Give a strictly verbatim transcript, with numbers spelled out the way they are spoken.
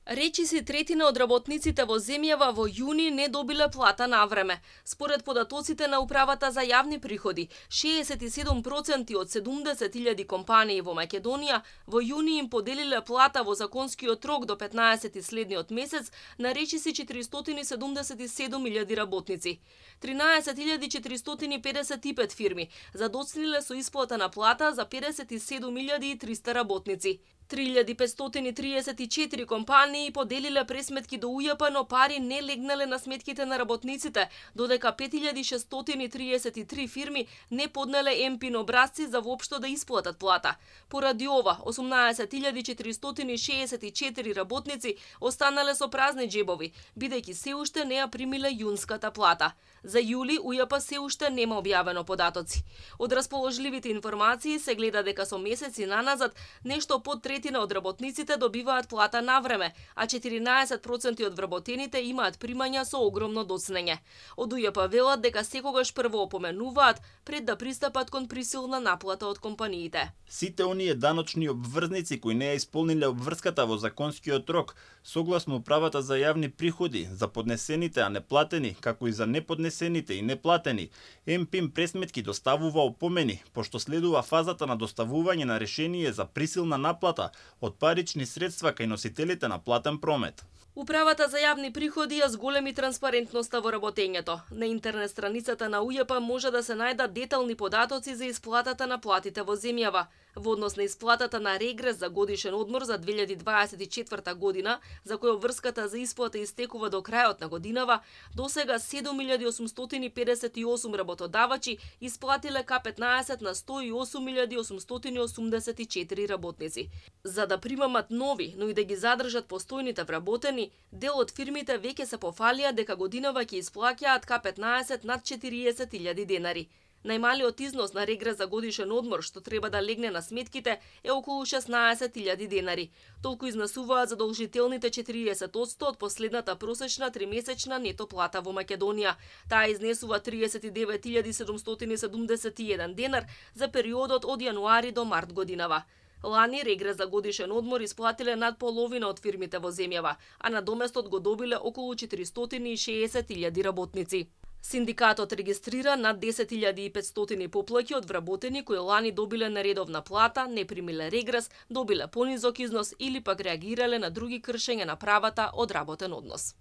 Речиси третина од работниците во земјава во јуни не добиле плата на време. Според податоците на Управата за јавни приходи, шеесет и седум проценти од седумдесет илјади компании во Македонија во јуни им поделиле плата во законскиот рок до петнаесети следниот месец на речиси четиристотини седумдесет и седум илјади работници. тринаесет илјади четиристотини педесет и пет фирми задоцниле со исплата на плата за педесет и седум илјади и триста работници. три илјади петстотини триесет и четири компании поделиле пресметки до УЈП, но пари не легнале на сметките на работниците, додека пет илјади шестстотини триесет и три фирми не поднеле ем-пин образци за воопшто да исплатат плата. Поради ова, осумнаесет илјади четиристотини шеесет и четири работници останале со празни џебови, бидејќи се уште не ја примиле јунската плата. За јули УЈП се уште нема објавено податоци. Од расположливите информации се гледа дека со месеци наназад нешто под третина од работниците добиваат плата на време, а четиринаесет проценти од вработените имаат примања со огромно доцнење. Од УЈП велат дека секогаш прво опоменуваат пред да пристапат кон присилна наплата од компаниите. Сите оние даночни обврзници кои не ја исполниле обврската во законскиот рок, согласно Управата за јавни приходи, за поднесените а неплатени, како и за неподнесените и неплатени, ем-пин пресметки доставува опомени, пошто следува фазата на доставување на решение за присилна наплата од парични средства кај носителите на платен промет. Управата за јавни приходи ја зголеми транспарентноста во работењето. На интернет страницата на УЈП може да се најдат детални податоци за исплатата на платите во земјава. Во однос на исплатата на регрес за годишен одмор за две илјади дваесет и четврта година, за која обврската за исплата истекува до крајот на годинава, досега седум илјади осумстотини педесет и осум работодавачи исплатиле ка петнаесет на сто и осум илјади осумстотини осумдесет и четири работници. За да примамат нови, но и да ги задржат постојните вработени, дел од фирмите веќе се пофалија дека годинава ќе исплаќаат ка петнаесет над четириесет илјади денари. Најмалиот износ на регрес за годишен одмор што треба да легне на сметките е околу шеснаесет илјади денари. Толку изнесуваат задолжителните четириесет одсто од последната просечна тримесечна нето плата во Македонија. Таа изнесува триесет и девет илјади седумстотини седумдесет и еден денар за периодот од јануари до март годинава. Лани регрес за годишен одмор исплатиле над половина од фирмите во земјава, а надоместот го добиле околу четиристотини и шеесет илјади работници. Синдикатот регистрира над десет илјади и петстотини поплаќи од вработени кои лани добиле нередовна плата, не примиле регрес, добиле понизок износ или пак реагирале на други кршења на правата од работен однос.